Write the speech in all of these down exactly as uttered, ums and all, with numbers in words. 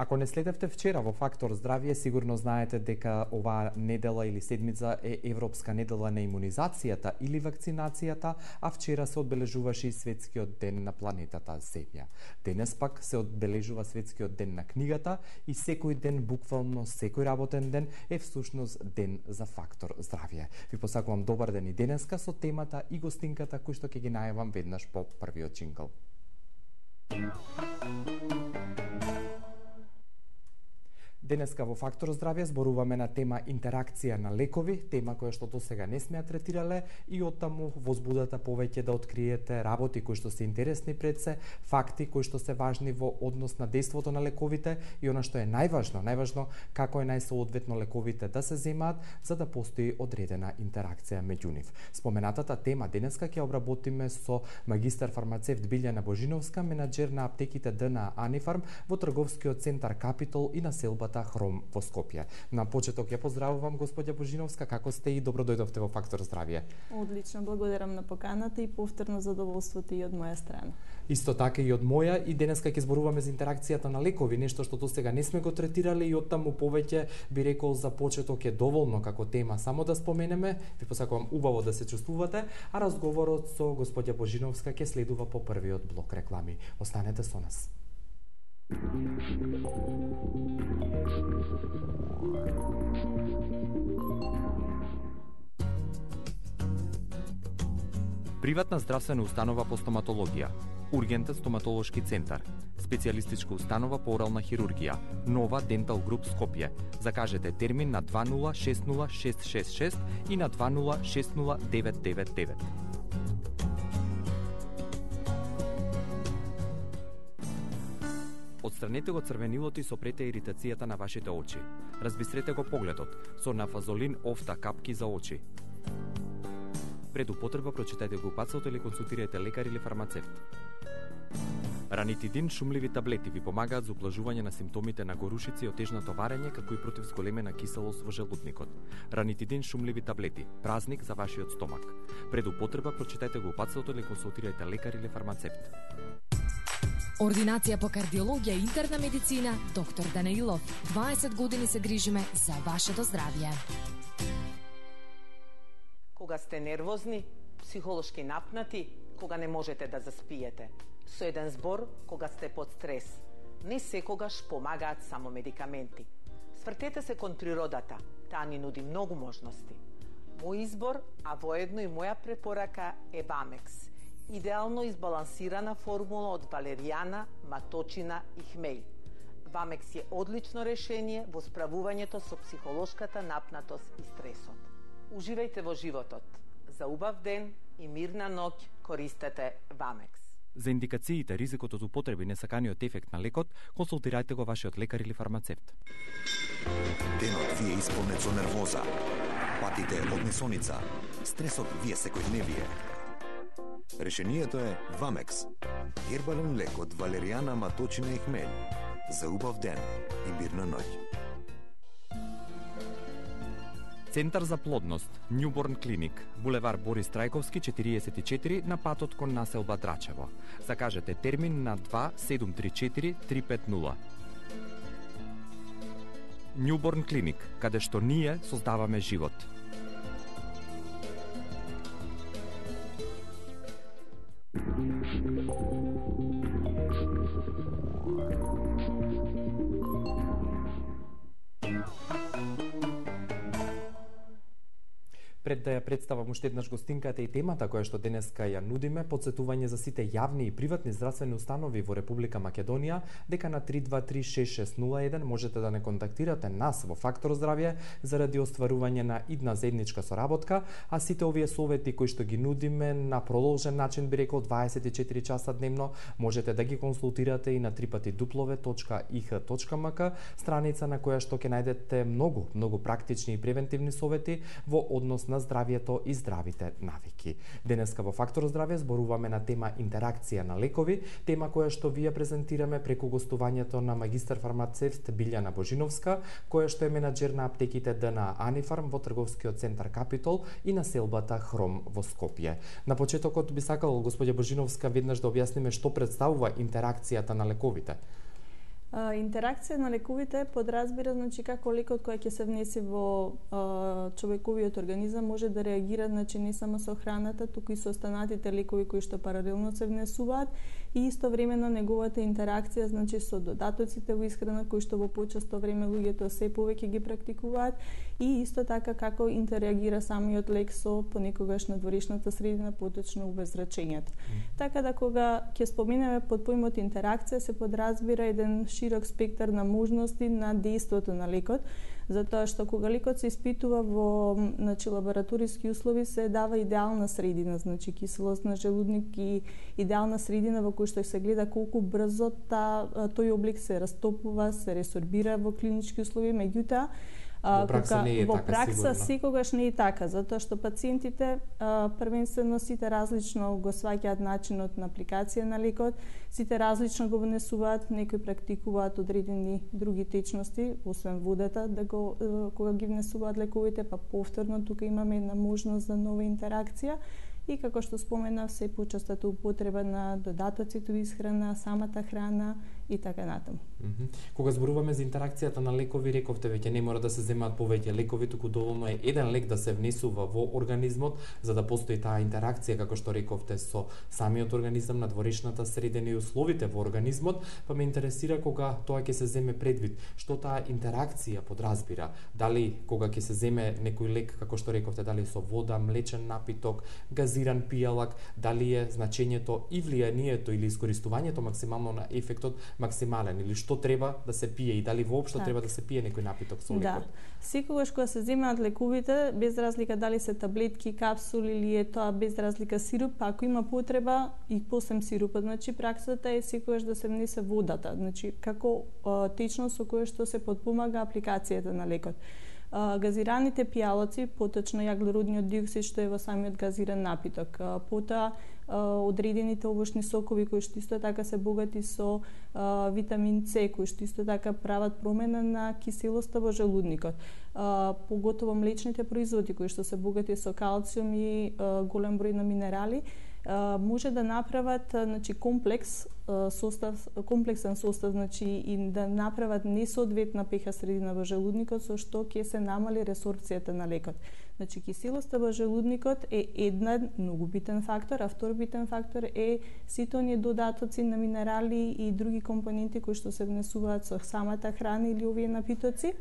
Ако не следевте вчера во Фактор здравје, сигурно знаете дека оваа недела или седмица е Европска недела на имунизацијата или вакцинацијата, а вчера се одбележуваше и Светскиот ден на планетата Земја. Денес пак се одбележува Светскиот ден на книгата и секој ден, буквално секој работен ден, е всушност ден за Фактор здравје. Ви посакувам добар ден и денеска со темата и гостинката кој што ќе ги најавам веднаш по првиот джингл. Денеска во Фактор здравје зборуваме на тема интеракција на лекови, тема која што досега не сме ја третирале и оттаму возбудата повеќе да откриете работи кои што се интересни пред се, факти кои што се важни во однос на дејството на лековите и она што е најважно, најважно како е најсоодветно лековите да се земаат за да постои одредена интеракција меѓу нив. Споменатата тема денеска ќе обработиме со магистар фармацевт Билјана Божиновска, менаџер на аптеките Д Н А Анифарм во трговскиот центар Капитол и населбата Хром во Скопје. На почеток ја поздравувам господја Божиновска, како сте и добро дојдовте во Фактор здравје. Одлично, благодарам на поканата и повторно задоволството и од моја страна. Исто така и од моја, и денеска ќе зборуваме за интеракцијата на лекови, нешто што досега не сме го третирале и оттаму повеќе би рекол за почеток е доволно како тема само да споменеме. Ви посакувам убаво да се чувствувате, а разговорот со господја Божиновска ќе следува по првиот блок реклами. Останете со нас. Приватна здравствена установа по стоматологија, Ургентен стоматолошки центар, специјалистичка установа по орална хирургија, Нова Дентал Груп Скопје. Закажете термин на два нула шест нула шест шест шест и на два нула шест нула девет девет девет. Отстранете го црвенилот и сопрете иритацијата на вашите очи. Разбистрете го погледот со нафазолин офта капки за очи. Пред употреба прочитајте го упатството или консултирајте лекар или фармацевт. Ранитидин шумливи таблети ви помагаат за ублажување на симптомите на горушици и отежно товарење, како и против зголемена киселост во желудникот. Ранитидин шумливи таблети, празник за вашиот стомак. Пред употреба прочитајте го упатството или консултирајте лекар или фармацевт. Ординација по кардиологија и интерна медицина, доктор Данаилов. дваесет години се грижиме за вашето здравје. Кога сте нервозни, психолошки напнати, кога не можете да заспиете. Со еден збор, кога сте под стрес. Не секогаш помагаат само медикаменти. Свртете се кон природата, таа ни нуди многу можности. Мој избор, а воедно и моја препорака е Вамекс. Идеално избалансирана формула од валеријана, маточина и хмеј. Вамекс е одлично решение во справувањето со психолошката напнатост и стресот. Уживајте во животот. За убав ден и мирна ноќ користете Вамекс. За индикациите, ризикот од употреби, несаканиот ефект на лекот, консултирајте го вашиот лекар или фармацевт. Денот ви е исполнет со нервоза, патите од несоница, стресот ви е секојдневие. Решението е Вамекс. Хербален лек од валеријана, маточина и хмелј. За убав ден и мирна ноќ. Центар за плодност, Нјуборн клиник, булевар Борис Трајковски четириесет и четири на патот кон населба Драчево. Закажете термин на два седум три четири три пет нула. Нјуборн клиник, каде што ние создаваме живот. Пред да ја представам уште еднаш гостинката и темата која што денеска ја нудиме, подсетување за сите јавни и приватни здравствени установи во Република Македонија, дека на три два три шест шест нула еден можете да не контактирате нас во Фактор здравје заради остварување на идна заедничка соработка, а сите овие совети кои што ги нудиме на продолжен начин, би рекол дваесет и четири часа дневно, можете да ги консултирате и на три пати дуплове точка и х точка м к, страница на која што ќе најдете многу, многу практични и превентивни совети во однос на здравјето и здравите навики. Денеска во Фактор здравје зборуваме на тема интеракција на лекови, тема која што ви ја презентираме преку гостувањето на магистар фармацевт Билјана Божиновска, која што е менаџер на аптеките Д Н А Анифарм во трговскиот центар Капитол и населбата Хром во Скопје. На почетокот би сакал господја Божиновска веднаш да објасниме што представува интеракцијата на лековите. А, интеракција на лековите подразбира значи како лекот кој ќе се внесе во а, човековиот организам може да реагира значи не само со храната, туку и со останатите лекови кои што паралелно се внесуваат и истовремено неговата интеракција значи со додатоците во исхрана кои што во почесто време луѓето се повеќе ги практикуваат и исто така како интерагира самиот лек со понекогаш надворешната средина, поточно обеззрачењето. Mm. Така да кога ќе споменеме под поимот интеракција се подразбира еден широк спектар на можности на дејството на лекот, затоа што кога лекот се испитува во значи лабораториски услови се дава идеална средина, значи киселост на желудник и идеална средина во која што се гледа колку брзо та тој облик се растопува, се ресорбира во клинички услови, меѓутоа Во пракса не е во така, пракса сигурно. секогаш не е така, затоа што пациентите а, првенствено сите различно го сваќаат начинот на апликација на лекот, сите различно го внесуваат, некои практикуваат одредени други течности, освен водата, да го кога ги внесуваат лековите, па повторно тука имаме една можност за нова интеракција. И како што споменав, се почестата употреба на додатоците во исхрана, самата храна и така натаму. Mm -hmm. Кога зборуваме за интеракцијата на лекови, рековте веќе не мора да се земаат повеќе лекови, туку доволно е еден лек да се внесува во организмот за да постои таа интеракција како што рековте со самиот организам, надворешната средина и условите во организмот, па ме интересира кога тоа ќе се земе предвид, што таа интеракција подразбира, дали кога ќе се земе некој лек како што рековте, дали со вода, млечен напиток, газиран пијалак, дали е значењето и влијанието или искористувањето максимално на ефектот максимален или што треба да се пие и дали воопшто так. треба да се пие некој напиток со лекот. Да. Секогаш кога се земаат лековите, без разлика дали се таблетки, капсули или е тоа без разлика сируп, па ако има потреба и посем сирупот, значи праксата е секогаш да се внесе водата, значи како а, течност со која што се потпомага апликацијата на лекот. Uh, газираните пијалоци, поточно јаглеродниот диоксид што е во самиот газиран напиток, uh, потоа uh, одредените овошни сокови кои што исто така се богати со uh, витамин С, кои што исто така прават промена на киселоста во желудникот. Uh, поготово млечните производи кои што се богати со калциум и uh, голем број на минерали, Uh, може да направат значи комплекс uh, состав комплексен состав значи и да направат несоодветна pH средина во желудникот со што ќе се намали ресорбцијата на лекот. Значи киселоста во желудникот е еден многу битен фактор, а втор битен фактор е сите оние додатоци на минерали и други компоненти кои што се внесуваат со самата храна или овие напитоци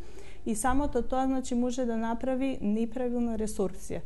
и самото тоа значи може да направи неправилна ресорбција.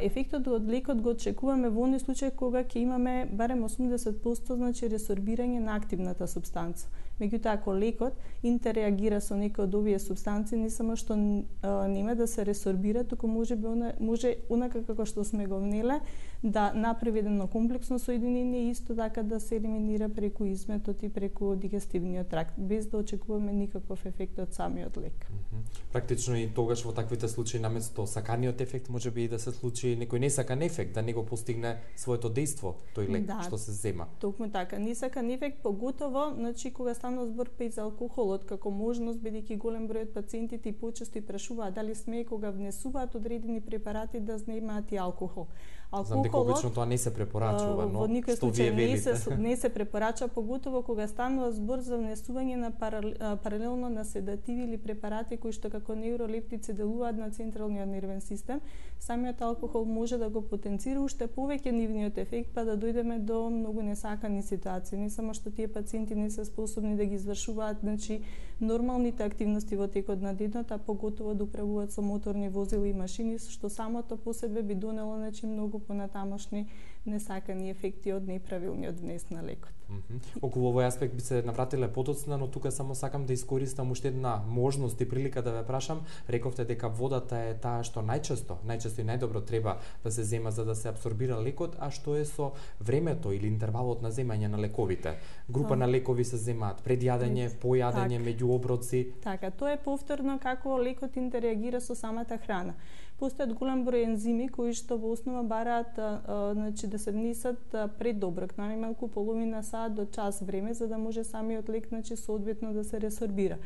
Ефектот од лекот го очекуваме во оној случај кога ќе имаме барем осумдесет проценти значи ресорбирање на активната супстанца. Меѓутоа ако лекот интерреагира со некои од овие супстанци, не само што а, нема да се ресорбира, туку може би она, може онака како што сме го внеле да направи едно комплексно соединение и исто така да се елиминира преку изметот и преку дигестивниот тракт, без да очекуваме никаков ефект од самиот лек. Mm -hmm. Практично и тогаш во таквите случаи наместо саканиот ефект може би и да се случи некој несакан ефект, да не го постигне своето дејство тој лек да, што се зема. Токму така, несакан ефект поготово, значи кога станува збор па и за алкохолот како можност, бидејќи голем број од пациентите и почесто и прашуваат дали смее кога внесуваат одредени препарати да знемаат и алкохол. Знам дека обично тоа не се препорачува, но во никој што вие случај не се велите? не се препорача, поготово кога станува збор за внесување на паралелно на седативи или препарати кои што како неуролептици делуваат на централниот нервен систем. Самиот алкохол може да го потенцира уште повеќе нивниот ефект, па да дојдеме до многу несакани ситуации. Не само што тие пациенти не се способни да ги извршуваат, значи нормалните активности во текот на денот, а поготово да управуваат со моторни возила и машини, што самото по себе би донело значи многу понатамошни несакани ефекти од неправилниот внес на лекот. Mm -hmm. Околу овој аспект би се навратиле потоцна, но тука само сакам да искористам уште една можност и прилика да ве прашам. Рековте дека водата е таа што најчесто, најчесто и најдобро треба да се зема за да се апсорбира лекот, а што е со времето или интервалот на земање на лековите? Група на лекови се земаат пред јадење, по јадење, меѓу оброци. Така, тоа е повторно како лекот интерреагира со самата храна. Постојат голем број ензими кои што во основа бараат а, а, значи да се внесат а, пред оброк, најмалку половина сат до час време за да може самиот лек значи соодветно да се ресорбира.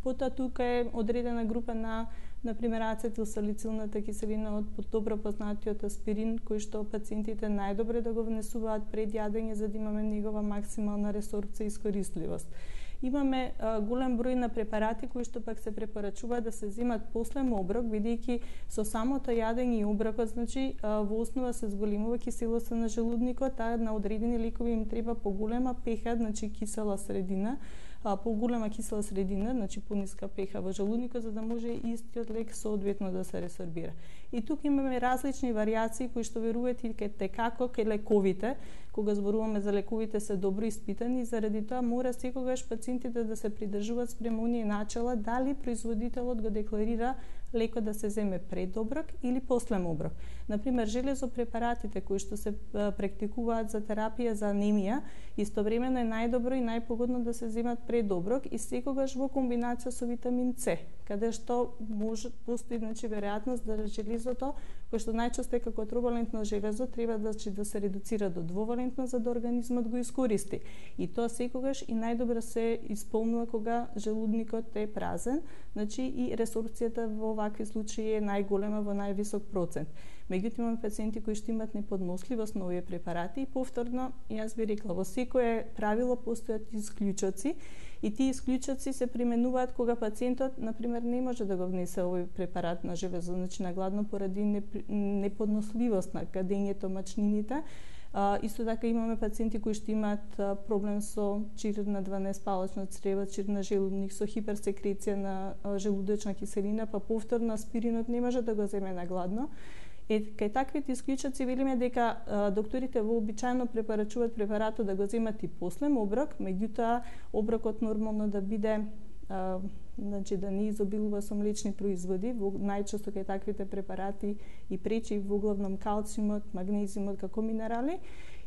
Потоа тука е одредена група на на пример ацетилсалицилната киселина од добро познатиот аспирин кој што пациентите најдобре да го внесуваат пред јадење за да имаме негова максимална ресорбција и искористливост. Имаме а, голем број на препарати кои што пак се препорачува да се земат после оброк, бидејќи со самото јадење и оброкот, значи а, во основа се зголемува киселоста на желудникот, а на одредени лекови им треба поголема пеха, значи кисела средина, поголема кисела средина, значи пониска пеха во желудникот, за да може истиот лек соодветно да се ресорбира. И тука имаме различни варијации кои што верувате ке како ке лековите, кога зборуваме за лековите се добро испитани, заради тоа мора секогаш пациентите да се придржуваат спрема оние начала дали производителот го декларира лекот да се земе пред оброк или после оброк. Например, железопрепаратите кои што се практикуваат за терапија за анемија, истовремено е најдобро и најпогодно да се земат пред оброк и секогаш во комбинација со витамин С, каде што може постои, значи, веројатност да железото, кој што најчесто е како тровалентно железо, треба да, да се редуцира до двовалентно за да организмот го искористи. И тоа секогаш и најдобро се исполнува кога желудникот е празен, значи и ресорбцијата во вакви случаи е најголема во највисок процент. Меѓутоа имаме пациенти кои што имаат неподносливост на овие препарати и повторно, јас би рекла, во секое правило постојат исклучоци и тие исклучоци се применуваат кога пациентот, например, не може да го внесе овој препарат на железо, значи на гладно поради неподносливост на кадењето, мачнините. Uh, исто така имаме пациенти кои што имаат uh, проблем со чир на дванаесет-палачно црево, чир на желудник, со хиперсекреција на uh, желудочна киселина, па повторно аспиринот не може да го земе на гладно. Е, кај таквите исклучоци велиме дека а, докторите вообичаено препорачуваат препаратот да го земат и после оброк, меѓутоа оброкот нормално да биде а, значи да не изобилува со млечни производи, во, најчесто кај таквите препарати и пречи во главном калциумот, магнезиумот како минерали.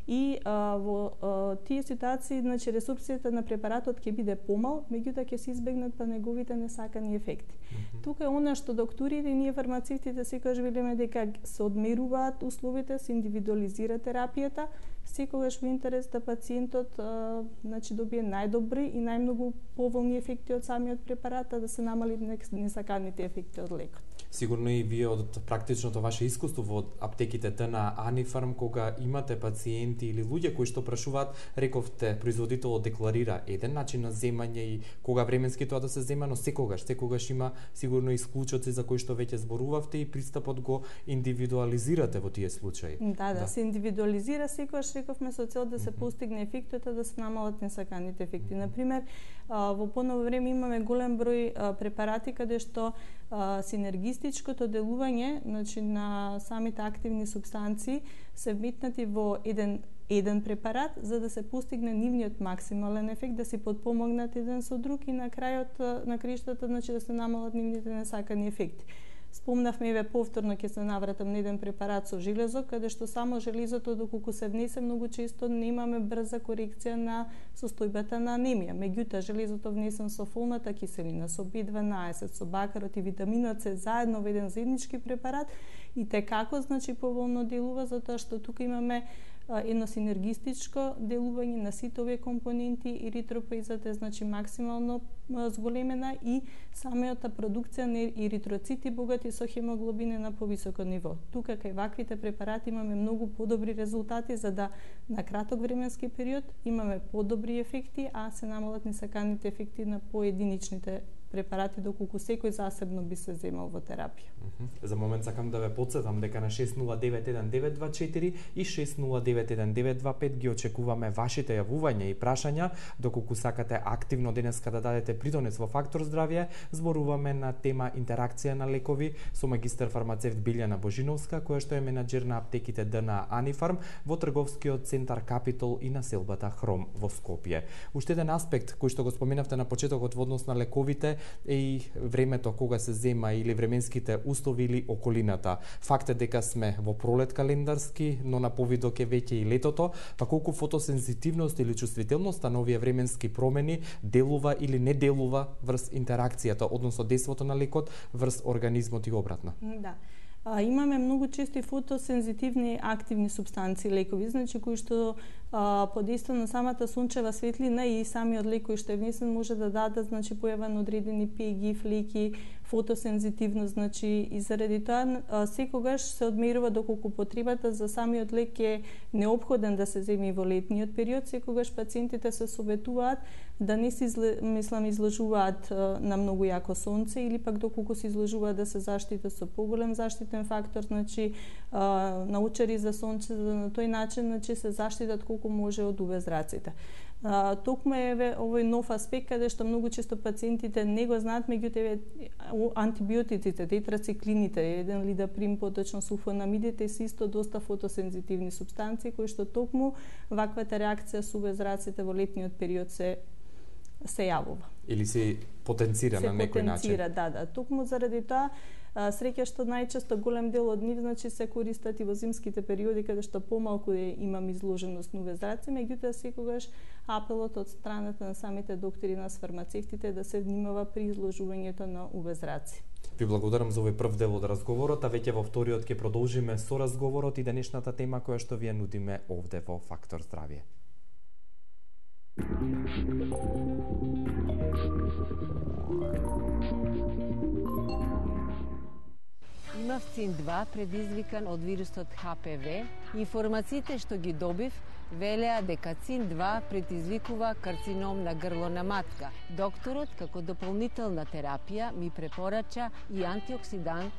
И а, во а, тие ситуации, значи ресурсите на препаратот ќе биде помал, меѓутоа ќе се избегнат па неговите несакани ефекти. Mm-hmm. Тука е она што докторите и ние фармацевтите секогаш велиме дека се одмеруваат условите, се индивидуализира терапијата, секогаш во интерес да пациентот а, значи добие најдобри и најмногу поволни ефекти од самиот препарат, а да се намали несаканите ефекти од лекот. Сигурно и вие од практичното ваше искуство во аптеките на Анифарм, кога имате пациенти или луѓе кои што прашуваат, рековте, производителот декларира еден начин на земање и кога временски тоа да се зема, но секогаш, секогаш има сигурно исклучоци за кои што веќе зборувавте и пристапот го индивидуализирате во тие случаи. Да, да, да. Се индивидуализира секогаш, рековме, со цел да се постигне ефектот, да се намалат несаканите ефекти. Mm-hmm. Например, во поново време имаме голем број препарати каде што синергистичкото делување, значи на самите активни супстанции се вметнати во еден еден препарат за да се постигне нивниот максимален ефект, да се подпомогнат еден со друг и на крајот на криштата, значи да се намалат нивните несакани ефекти. Спомнавме еве повторно ќе се навратам на еден препарат со железо, каде што само железото доколку се внесе многу често немаме брза корекција на состојбата на анемија. Меѓутоа железото внесен со фолната киселина, со би дванаесет, со бакарот и витаминот С заедно во еден заеднички препарат и те како значи поволно делува, затоа што тука имаме едно синергистичко делување на сите овие компоненти, еритропоизата е значи максимално зголемена и самата продукција на еритроцити богати со хемоглобин на повисоко ниво. Тука кај ваквите препарати имаме многу подобри резултати за да на краток временски период имаме подобри ефекти, а се намалат несаканите ефекти на поединичните препарати доколку секој засебно би се земал во терапија. Mm-hmm. За момент сакам да ве потсетам дека на шест нула девет еден девет два четири и шест нула девет еден девет два пет ги очекуваме вашите јавувања и прашања, доколку сакате активно денеска да дадете придонес во Фактор здравје. Зборуваме на тема интеракција на лекови со магистар фармацевт Билјана Божиновска, која што е менаџер на аптеките на Анифарм во трговскиот центар Капитол и населбата Хром во Скопје. Уште еден аспект кој што го споменавте на почетокот во однос на лековите е и времето кога се зема или временските услови или околината. Факт е дека сме во пролет календарски, но на повидок е веќе и летото, па колку фотосензитивност или чувствителноста на овие временски промени делува или не делува врз интеракцијата, односно действото на лекот врз организмот и обратно. Да. А, имаме многу често и фотосензитивни активни субстанции лекови, значи кои што а, под действие на самата сончева светлина и самиот лек кој што е внесен може да дадат значи појава на одредени пеги, флеки, фотосензитивност, значи и заради тоа секогаш се одмерува доколку потребата за самиот лек е неопходен да се земи во летниот период, секогаш пациентите се советуваат да не се мислам изложуваат на многу јако сонце или пак доколку се изложуваат да се заштитат со поголем заштитен фактор, значи научари за сонце, за да на тој начин значи се заштитат колку може од ю ви зраците. Токму е овој нов аспект каде што многу често пациентите не го знаат, меѓутоа антибиотиците, тетрациклините, еден лидаприм, поточно сулфонамидите се исто доста фотосензитивни супстанции кои што токму ваквата реакција со ю ви зраците во летниот период се се јавува. Или се потенцира се на некој начин. Се потенцира, да, да. Токму заради тоа среќа што најчесто голем дел од нив значи се користат и во зимските периоди каде што помалку имам изложеност на ю ви зраци, меѓутоа секогаш апелот од страната на самите доктори, на фармацевтите да се внимава при изложувањето на ю ви зраци. Ви благодарам за овој прв дел од разговорот, а веќе во вториот ќе продолжиме со разговорот и денешната тема која што ви ја нудиме овде во Фактор здравје. Имав цин два предизвикан од вирусот Х П В. Информациите што ги добив велеа дека цин два предизвикува карцином на грло на матка. Докторот, како дополнителна терапија, ми препорача и антиоксидант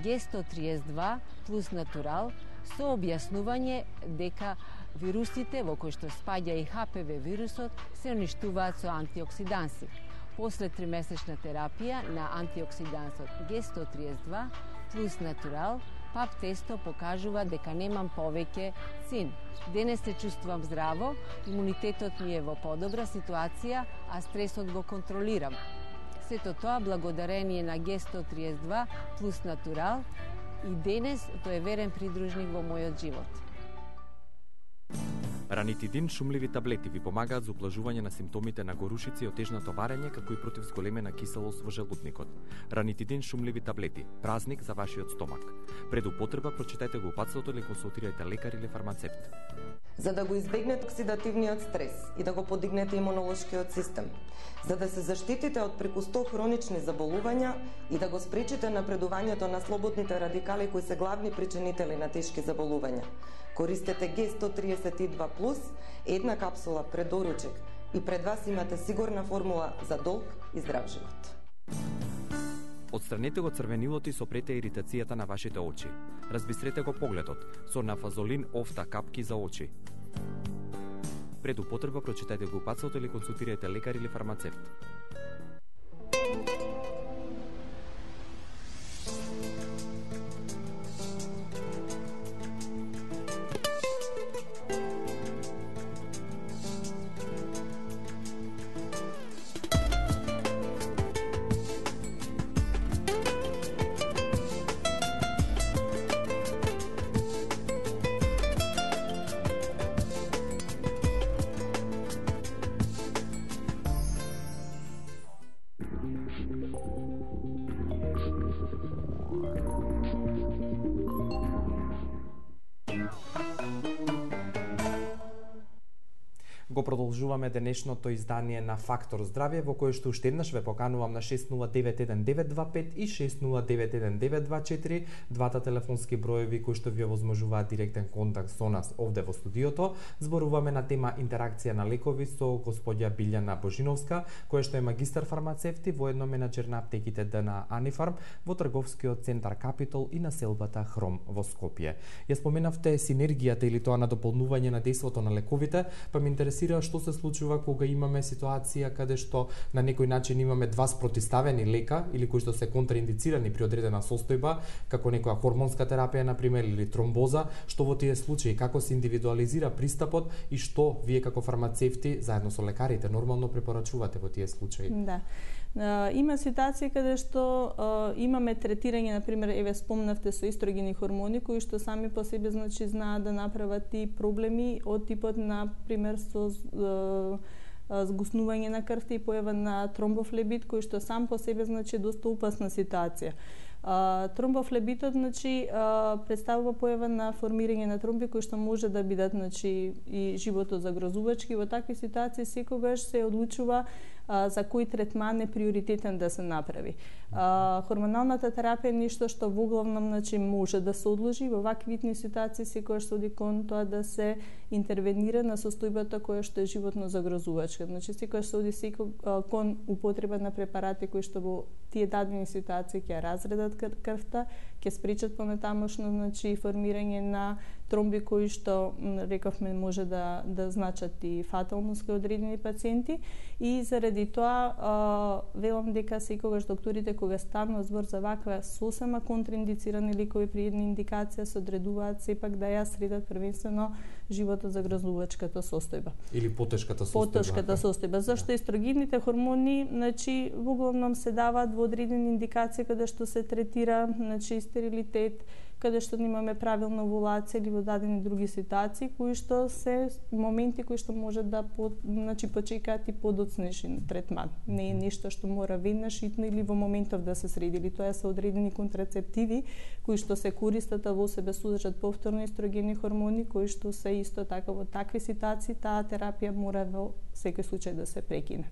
Г сто триесет два плюс натурал со објаснување дека вирусите во кои што спаѓа и Х П В вирусот се уништуваат со антиоксиданси. После тримесечна терапија на антиоксидансот Г сто триесет два плюс натурал, пап тесто покажува дека немам повеќе цин. Денес се чувствувам здраво, имунитетот ми е во подобра ситуација, а стресот го контролирам. Сето тоа благодарение на Г сто триесет два плюс натурал и денес тој е верен придружник во мојот живот. Ранитидин шумливи таблети ви помагаат за ублажување на симптомите на горушици и отежнато варење, како и против зголемена киселост во желудникот. Ранитидин шумливи таблети, празник за вашиот стомак. Пред употреба прочитајте го упатството или консултирајте лекар или фармацевт. За да го избегнете оксидативниот стрес и да го подигнете имунолошкиот систем, за да се заштитите од преку сто хронични заболувања и да го спречите напредувањето на слободните радикали кои се главни причинители на тешки заболувања. Користете Г сто триесет два плюс, една капсула пред доручек и пред вас имате сигурна формула за долг и здрав живот. Отстранете го црвенилот и сопрете иритацијата на вашите очи. Разбистрете го погледот со нафазолин офта капки за очи. Пред употреба прочитајте го упатството или консултирајте лекар или фармацевт. Го продолжуваме денешното издание на Фактор здравје, во кое што уште еднаш ве поканувам на шест нула девет еден девет два пет и шест нула девет еден девет два четири, двата телефонски броеви кои што ви овозможуваат директен контакт со нас овде во студиото. Зборуваме на тема интеракција на лекови со господја Билјана Божиновска, која што е магистар фармацевт и воедно менаџер на аптеките Д Н А Анифарм во трговскиот центар Капитол и населбата Хром во Скопје. Ја споменавте синергијата или тоа на дополнување на дејството на лековите, па ме интересира што се случува кога имаме ситуација каде што на некој начин имаме два спротиставени лека или кои што се контраиндицирани при одредена состојба, како некоја хормонска терапија на пример или тромбоза, што во тие случаи како се индивидуализира пристапот и што вие како фармацевти заедно со лекарите нормално препорачувате во тие случаи? Да. Има ситуации каде што а, имаме третирање, на пример, еве спомнавте со естрогени хормони кои што сами по себе значи знаат да направат и проблеми од типот на пример со а, згуснување на крвта и појава на тромбофлебит кој што сам по себе значи доста опасна ситуација. А, тромбофлебитот значи а, представува појава на формирање на тромби кои што може да бидат значи и животозагрозувачки. Во такви ситуации секогаш се одлучува а, за кој третман е приоритетен да се направи. А, хормоналната терапија е нешто што во главном значи може да се одложи во вакви видни ситуации секогаш се оди кон тоа да се интервенира на состојбата која што е животно загрозувачка. Значи секогаш се оди секој кон употреба на препарати кои што во тие дадени ситуации ќе разредат крвта, ќе спречат понатамошно значи формирање на тромби кои што рековме може да да значат и фаталност кај одредени пациенти и заради тоа а, велам дека секогаш докторите кога станува збор за ваква сосема контраиндицирани лекови при една индикација се одредуваат сепак да ја средат првенствено живото загрозувачката состојба или потешката состојба. Потешката состојба, зашто естрогенните хормони, значи во главном се даваат во одредени индикации каде што се третира, значи стерилитет, каде што немаме правилна овулација или во дадени други ситуации кои што се моменти кои што може да по, значи почекаат и подоцнешен третман. Не е нешто што мора веднаш итно или во моментов да се среди, или тоа се одредени контрацептиви кои што се користат, а во себе содржат повторно естрогени хормони кои што се исто така во такви ситуации таа терапија мора во секој случај да се прекине.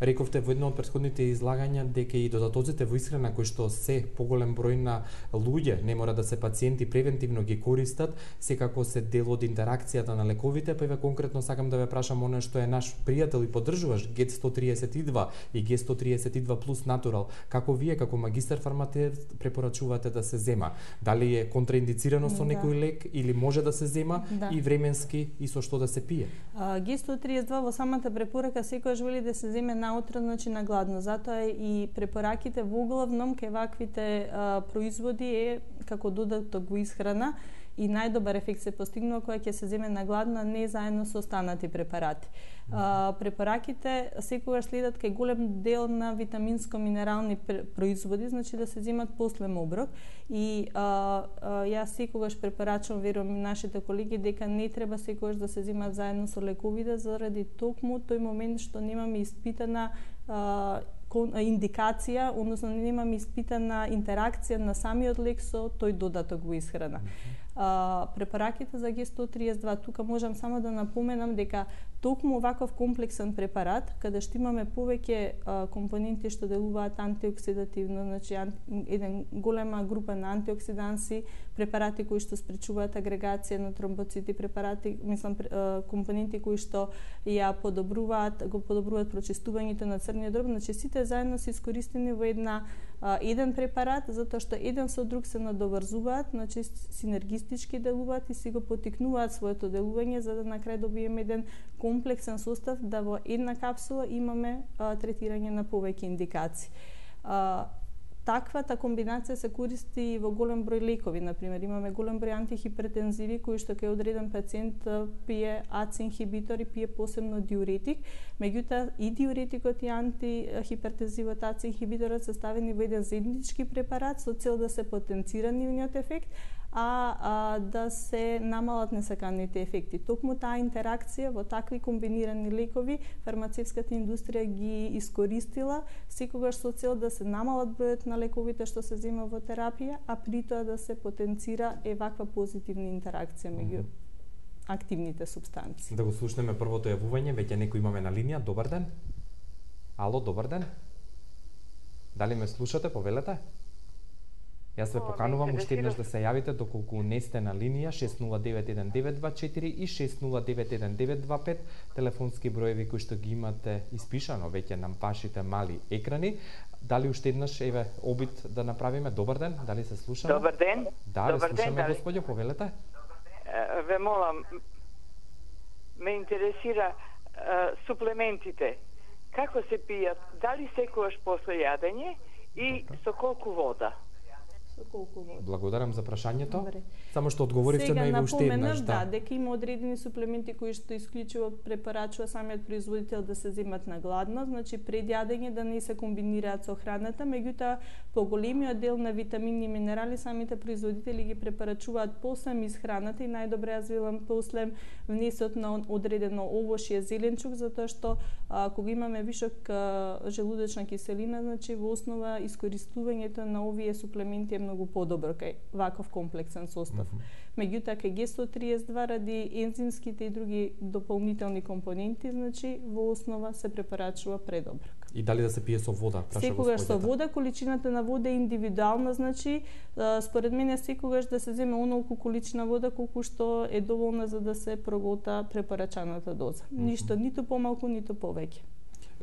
Рековте во едно од претходните излагања дека и додатоците во исхрана кои што се поголем број на луѓе, не мора да се пациенти, превентивно ги користат, секако се дел од интеракцијата на лековите, па еве конкретно сакам да ве прашам оно што е наш пријател и поддржуваш Г сто триесет и два и Г сто триесет и два плюс натурал. Како вие како магистар фармацевт препорачувате да се зема? Дали е контраиндицирано со некој лек или може да се зема да. И временски и со што да се пие? Г сто триесет и два во самата препорака секогаш вели да се земе наутро, значи на гладно. Затоа и препораките во главном кај ваквите а, производи е како додаток во исхрана и најдобар ефект се постигнува кога ќе се земе на гладно, а не заедно со останати препарати. А, препараките секогаш следат кај голем дел на витаминско-минерални производи, значи да се земат после оброк и а, а, јас секогаш препорачувам, верувам нашите колеги, дека не треба секогаш да се земат заедно со лековите заради токму тој момент што немаме испитана а, индикација, односно немаме испитана интеракција на самиот лек со тој додаток во исхрана. А, препараките за Г сто триесет и два, тука можам само да напоменам дека токму ваков комплексен препарат, каде што имаме повеќе а, компоненти што делуваат антиоксидативно, значи ан, еден голема група на антиоксиданси, препарати кои што спречуваат агрегација на тромбоцити, препарати, мислам, а, компоненти кои што ја подобруваат, го подобруваат прочистувањето на црниот дроб, значи сите заедно се искористени во една а, еден препарат, затоа што еден со друг се надоврзуваат, значи синергистички делуваат и си го поттикнуваат своето делување за да на крај добиеме еден комплексен состав да во една капсула имаме а, третирање на повеќе индикации. А, Таквата комбинација се користи во голем број лекови, например, имаме голем број антихипертензиви кои што кај одреден пациент пие А Ци инхибитор и пие посебно диуретик, меѓутоа и диуретикот и антихипертензивот А Ци инхибиторот се ставени во еден заеднички препарат со цел да се потенцира нивниот ефект, а, а да се намалат несаканите ефекти. Токму таа интеракција во такви комбинирани лекови фармацевската индустрија ги искористила секогаш со цел да се намалат бројот на лековите што се зема во терапија, а при тоа да се потенцира е ваква позитивна интеракција меѓу активните супстанции. Да го слушнеме првото јавување, веќе некој имаме на линија. Добар ден. Ало, добар ден. Дали ме слушате, повелете? Јас ве поканувам уште еднаш да се јавите доколку не сте на линија шест нула девет еден девет два четири и шест нула девет еден девет два пет, телефонски броеви кои што ги имате испишано веќе на вашите мали екрани. Дали уште еднаш еве обид да направиме? Добар ден, дали се слушаме? Добар ден. Да, Добар ве слушаме, ден, господјо, повелете. Ве молам, ме интересира суплементите. Како се пијат? Дали секогаш после јадење и со колку вода? Благодарам за прашањето. Добре. Само што одговоривте на и уште еднаш, да. Да, дека има одредени суплементи кои што исклучиво препорачува самиот производител да се земат на гладно, значи пред јадење да не се комбинираат со храната, меѓутоа поголемиот дел на витамини и минерали самите производители ги препорачуваат после исхраната и најдобре јас велам после внесот на одредено овошје, зеленчук, затоа што а, кога имаме вишок а, желудочна киселина, значи во основа искористувањето на овие суплементи е многу подобро кај ваков комплексен состав. Mm -hmm. Меѓутоа кај Г сто триесет два ради ензимските и други дополнителни компоненти, значи во основа се препорачува предоброк. И дали да се пие со вода? Секогаш со вода, количината на вода е индивидуална, значи според мене секогаш да се земе онолку количина вода колку што е доволна за да се прогота препорачаната доза. Mm -hmm. Ништо ниту помалку, ниту повеќе.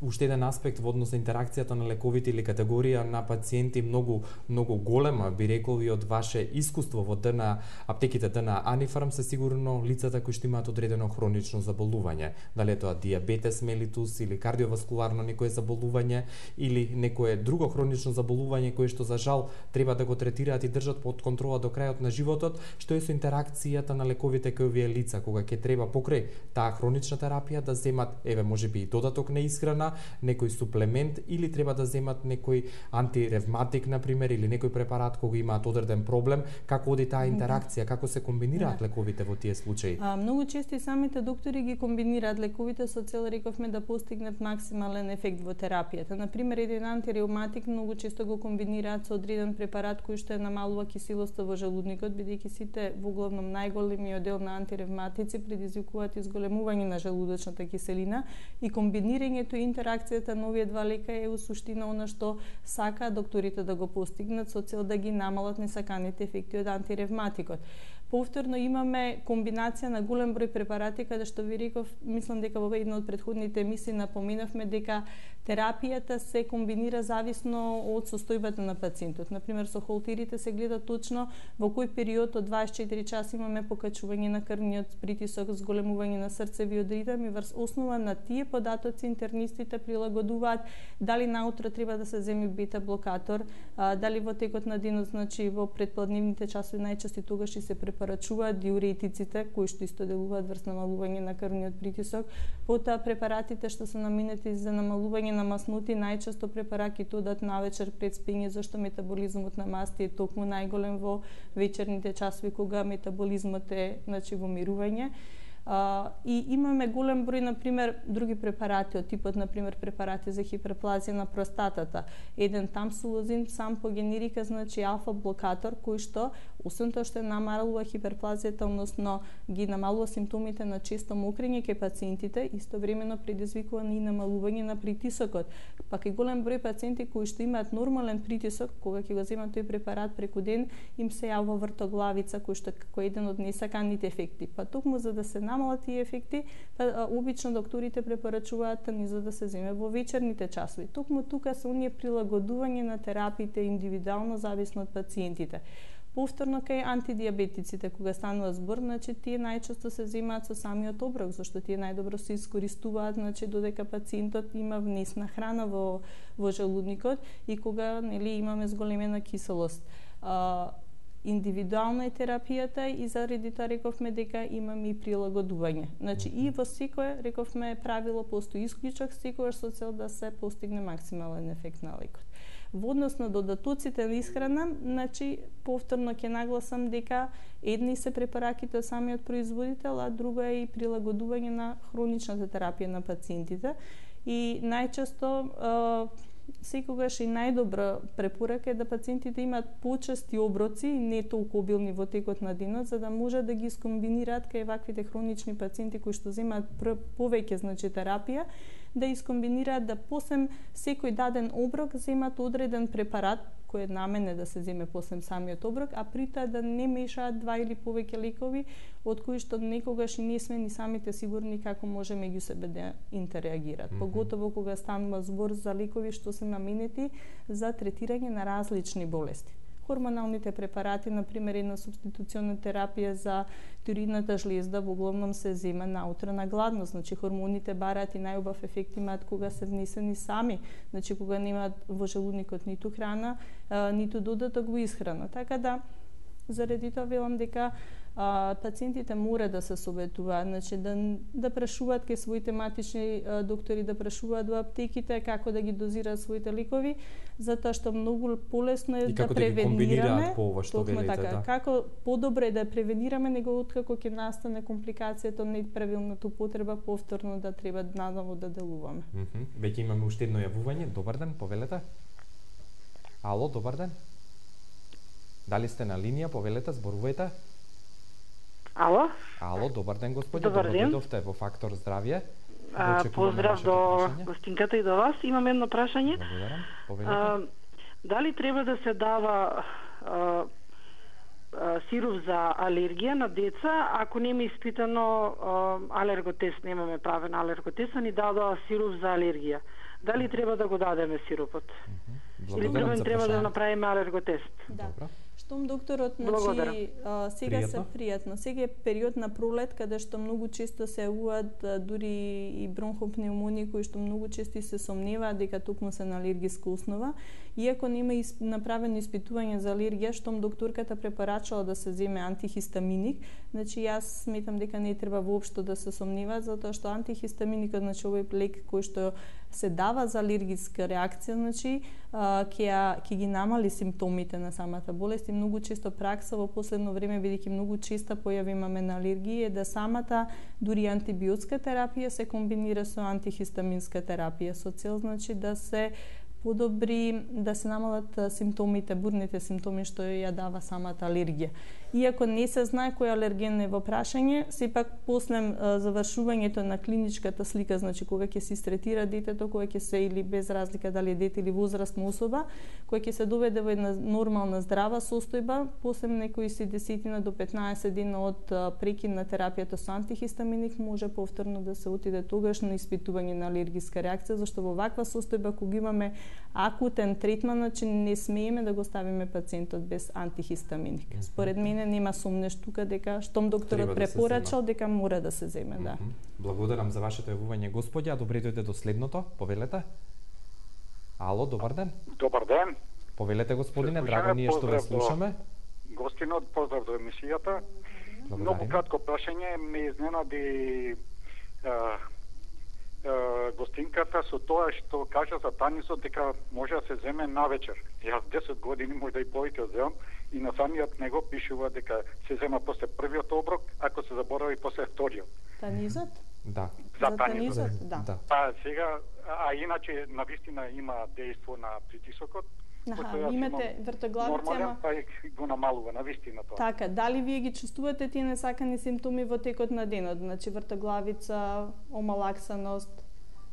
Уште еден аспект во однос на интеракцијата на лековите или категорија на пациенти многу многу голема, би рекол и од ваше искуство во ДН аптеките ДН Анифарм се сигурно лицата кои што имаат одредено хронично заболување, дали е тоа диабетес мелитус или кардиоваскуларно некое заболување или некое друго хронично заболување кое што за жал треба да го третираат и држат под контрола до крајот на животот, што е со интеракцијата на лековите кај овие лица кога ќе треба покрај таа хронична терапија да земат еве можеби и додаток на исхрана, некој суплемент или треба да земат некој антиревматик на пример или некој препарат кога имаат одреден проблем, како оди таа интеракција, како се комбинираат да. лековите во тие случаи? А, многу често и самите доктори ги комбинираат лековите со цел, рековме, да постигнат максимален ефект во терапијата. На пример, еден антиревматик многу често го комбинираат со одреден препарат кој што е намалува киселоста во желудникот, бидејќи сите во главном најголемиот дел на антиревматици предизвикуваат изголемување на желудочната киселина и комбинирањето и интеракцијата на овие два лека е у суштина она што сака докторите да го постигнат со цел да ги намалат несаканите ефекти од антиревматикот. Повторно имаме комбинација на голем број препарати, каде што ви реков, мислам дека во една од претходните емисии напоменавме дека терапијата се комбинира зависно од состојбата на пациентот. Например, со холтерите се гледа точно во кој период од дваесет и четири часа имаме покачување на крвниот притисок, зголемување на срцевиот ритм и врз основа на тие податоци интернистите прилагодуваат дали наутро треба да се земи бета блокатор, дали во текот на денот, значи во предпладневните часови најчесто тогаш и се препорачуваат диуретиците кои што исто делуваат врз намалување на крвниот притисок. Потоа препаратите што се наменети за намалување на маснути најчесто препараките одат навечер пред спиње, зашто метаболизмот на масти е токму најголем во вечерните часови кога метаболизмот е, значи, во мирување. Uh, и имаме голем број, например, други препарати од типот, например, препарати за хиперплазија на простатата. Еден тамсулозин сам по генерика, значи алфа блокатор, кој што, освен тоа што намалува хиперплазијата, односно ги намалува симптомите на често мокрење кај пациентите, истовремено предизвикува и намалување на притисокот. Пак и голем број пациенти кои што имаат нормален притисок, кога ќе го земат тој препарат преку ден, им се јавува вртоглавица, кој што како еден од несаканите ефекти. Па токму за да се намалат тие ефекти, па обично докторите препорачуваат ни за да се земе во вечерните часови. Токму тука се оние прилагодување на терапиите индивидуално зависно од пациентите. Повторно кај антидиабетиците кога станува збор, значи тие најчесто се земаат со самиот оброк, зашто тие најдобро се искористуваат, значи додека пациентот има внесна храна во во желудникот и кога, нели, имаме зголемена киселост. А, индивидуална е терапијата и заради тоа рековме дека имаме и прилагодување. Значи и во секое, рековме, правило постои исклучок, секогаш со цел да се постигне максимален ефект на лекот. Во однос на додатоците на исхрана, значи повторно ќе нагласам дека едни се препараките од самиот производител, а друго е и прилагодување на хроничната терапија на пациентите. И најчесто секогаш и најдобра препорака е да пациентите имаат почести оброци, не толку обилни во текот на денот, за да може да ги скомбинираат кај ваквите хронични пациенти кои што земаат повеќе, значи, терапија, да искомбинираат да посем секој даден оброк земат одреден препарат кој е намене да се земе посем самиот оброк, а при тоа да не мешаат два или повеќе лекови од кои што некогаш и не сме ни самите сигурни како може меѓу себе да интерреагираат. Mm -hmm. Поготово кога станува збор за лекови што се наменети за третирање на различни болести. Хормоналните препарати, например, една субституциона терапија за тироидната жлезда, во главном се зема наутро на гладност. Значи, хормоните бараат и најубав ефект имаат кога се внесени сами, значи кога немаат во желудникот ниту храна, а, ниту додаток во исхрана. Така да, заради тоа велам дека а, пациентите мора да се советуваат, значи да да прашуваат кај своите матични а, доктори, да прашуваат во аптеките како да ги дозираат своите лекови, затоа што многу полесно е да превенираме, по ова што велите, така, да. Како подобро е да превенираме него откако ќе настане компликацијата од неправилната употреба, повторно да треба наново да делуваме. Mm -hmm. Веќе имаме уште едно јавување. Добар ден, повелете. Ало, добар ден. Дали сте на линија, повелете, зборувајте. Ало? Ало, добар ден, господи. Добар ден. Добро во Фактор здравје. А, поздрав до прашање. гостинката и до вас. Имам едно прашање. Благодарам. Повелете. А, дали треба да се дава а, а, сируп за алергија на деца, ако нема испитано а, алерготест, немаме правен алерготест, а ни дадоа сируп за алергија. Дали треба да го дадеме сиропот? Или треба, треба да направиме алерготест? Да. Добро. Штом докторот, значи, а, сега Пријатно. се пријатно. Сега е период на пролет, каде што многу често се јавуваат дури и бронхопнеумонии, кои што многу често се сомневаат дека токму се на алергиска основа. Иако нема исп... направено испитување за алергија, штом докторката препорачала да се земе антихистаминик, значи јас сметам дека не треба воопшто да се сомневаат, затоа што антихистаминикот, значи овој лек кој што се дава за алергиска реакција, значи ќе ќе ги намали симптомите на самата болест и многу често пракса во последно време, бидејќи многу честа појави имаме на алергија, е да самата дури антибиотска терапија се комбинира со антихистаминска терапија со цел, значи, да се подобри, да се намалат симптомите, бурните симптоми што ја дава самата алергија. Иако не се знае кој алерген е во прашање, сепак после завршувањето на клиничката слика, значи кога ќе се истретира детето, кога ќе се, или без разлика дали е дете или возрастна особа, кога ќе се доведе во една нормална здрава состојба, после некои си десетина до петнаесет дена од прекин на терапијата со антихистаминик, може повторно да се отиде тогаш на испитување на алергиска реакција, зашто во ваква состојба кога имаме акутен третман, значи не смееме да го ставиме пациентот без антихистаминик. Mm -hmm. Според мене нема сомнеш тука дека штом докторот да препорачал дека мора да се земе, да. Mm -hmm. Благодарам за вашето јавување, господи, а добре дојде до следното. Повелете. Ало, добар ден. Добар ден. Повелете, господине, драго ние што ве слушаме. Гостинот, поздрав до емисијата. Благодарим. Многу кратко прашање, ме изненади а, гостинката со тоа што кажа за танисот дека може да се земе навечер. Јас десет години, можда и повеќе земам, и на самиот него пишува дека се зема после првиот оброк, ако се заборави после вториот. Танизот? Да. За, за танизот, танизот, да. да. А сега, а иначе навистина има дејство на притисокот. Аха, имате вртоглавица, ама па го намалува навистина тоа. Така, дали вие ги чувствувате тие несакани симптоми во текот на денот, значи вртоглавица, омалаксаност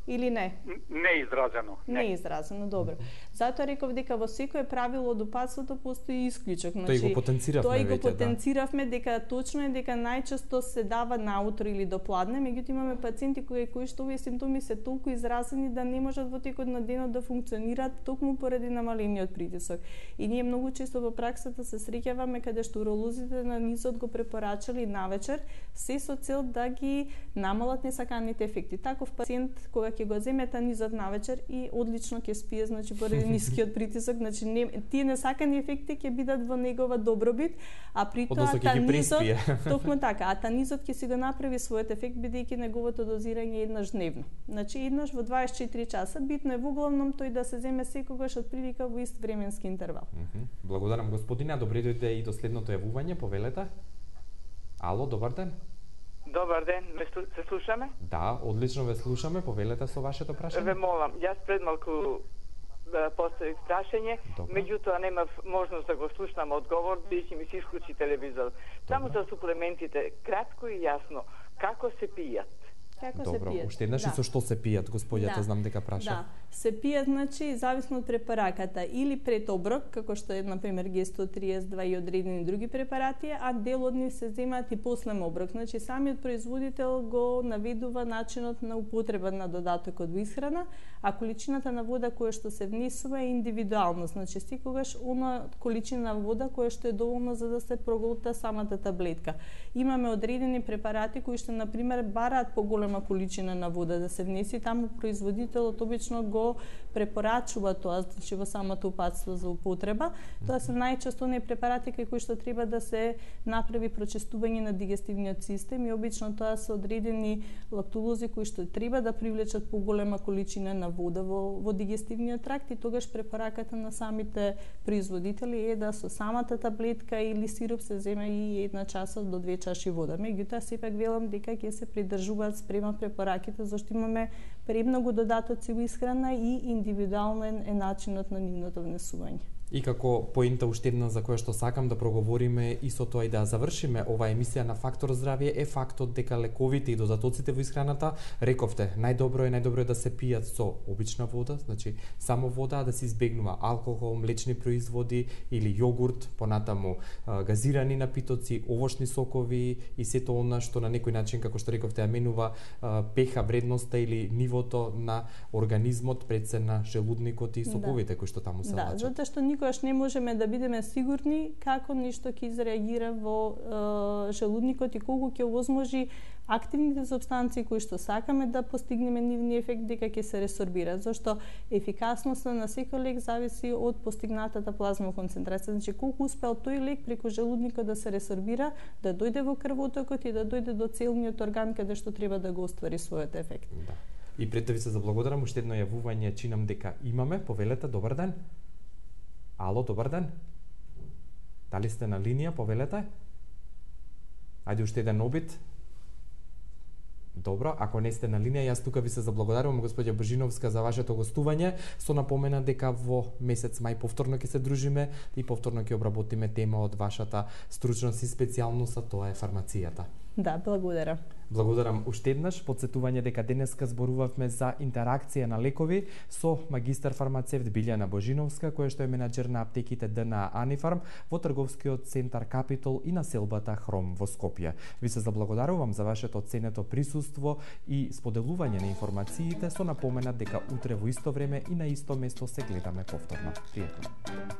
или не? Не изразено. Не, не изразено, добро. Затоа реков дека во секое правило од опасното постои исклучок. Значи, тој го потенциравме тој го веќе, потенциравме да. дека точно е дека најчесто се дава наутро или до пладне, меѓутоа имаме пациенти кои кои што овие симптоми се толку изразени да не можат во текот на денот да функционираат токму поради намалениот притисок. И ние многу често во праксата се среќаваме каде што уролозите на низот го препорачале навечер, се со цел да ги намалат несаканите ефекти. Таков пациент кога ќе го земе танизот навечер и одлично ќе спие, значи поради нискиот притисок, значи не, тие несакани ефекти ќе бидат во негова добробит, а при тоа танизот токму така, а танизот ќе си го направи својот ефект бидејќи неговото дозирање е еднаш дневно. Значи еднаш во дваесет и четири часа, битно е во главном тој да се земе секогаш од прилика во ист временски интервал. Mm -hmm. Благодарам, господине, добре дојде и до следното јавување, повелете. Ало, добар ден. Добар ден, ме се слушаме? Да, одлично ве слушаме, повелете со вашето прашање. Ве молам, јас пред малку да поставив прашање, меѓутоа немав можност да го слушнам одговор, бидејќи ми се исклучи телевизор. Само за суплементите, кратко и јасно, како се пијат? Како Добро, се пијат? уште еднаш, да. со што се пијат, господјата, да. знам дека праша. Да, се пијат, значи, зависно од препараката, или пред оброк, како што е, например, Г сто триесет два и одредени други препарати, а дел од нив се земаат и после оброк. Значи, самиот производител го наведува начинот на употреба на додатокот во исхрана, а количината на вода која што се внесува е индивидуално. Значи, секогаш она количина вода која што е доволна за да се проголта самата таблетка. Имаме одредени препарати кои што, например, бараат поголема количина на вода да се внеси, таму производителот обично го препорачува тоа, значи во самото упатство за употреба. Тоа се најчесто оние препарати кои што треба да се направи прочистување на дигестивниот систем и обично тоа се одредени лактулози кои што треба да привлечат поголема количина на вода во, во дигестивниот тракт и тогаш препораката на самите производители е да со самата таблетка или сируп се земе и една чаша до две чаши вода. Меѓутоа сепак велам дека ќе се придржуваат спрема препораките зашто имаме премногу додатоци во исхрана и индивидуален е начинот на нивното внесување. И како поента уште една за која што сакам да проговориме и со тоа и да завршиме оваа емисија на Фактор здравје е фактот дека лековите и додатоците во исхраната, рековте, најдобро е најдобро е да се пијат со обична вода, значи само вода, да се избегнува алкохол, млечни производи или јогурт, понатаму газирани напитоци, овошни сокови и сето она што на некој начин, како што рековте, ја менува пеха вредноста или нивото на организмот пред се на желудникот и соковите да. кои што таму се да, лачат. Да, затоа што никогаш не можеме да бидеме сигурни како нешто ќе изреагира во е, желудникот и колку ќе овозможи активните супстанции кои што сакаме да постигнеме нивни ефект дека ќе се ресорбираат, зашто ефикасноста на секој лек зависи од постигнатата плазма концентрација, значи колку успел тој лек преку желудникот да се ресорбира, да дојде во крвотокот и да дојде до целниот орган каде што треба да го оствари својот ефект. Да. И пред да ви се заблагодарам, уште едно јавување чинам дека имаме, повелете, добар ден. Ало, добар ден. Дали сте на линија, повелете? Ајде уште еден обид. Добро, ако не сте на линија, јас тука ви се заблагодарувам, господја Божиновска, за вашето гостување. Со напомена дека во месец мај повторно ќе се дружиме и повторно ќе обработиме тема од вашата стручност и специјалност, а тоа е фармацијата. Да, благодарам. Благодарам уште еднаш. Подсетување дека денеска зборувавме за интеракција на лекови со магистар фармацевт Билјана Божиновска, која што е менаџер на аптеките Д Н А Анифарм во трговскиот центар Капитол и населбата Хром во Скопје. Ви се заблагодарувам за вашето ценето присуство и споделување на информациите со напомена дека утре во исто време и на исто место се гледаме повторно. Пријатно.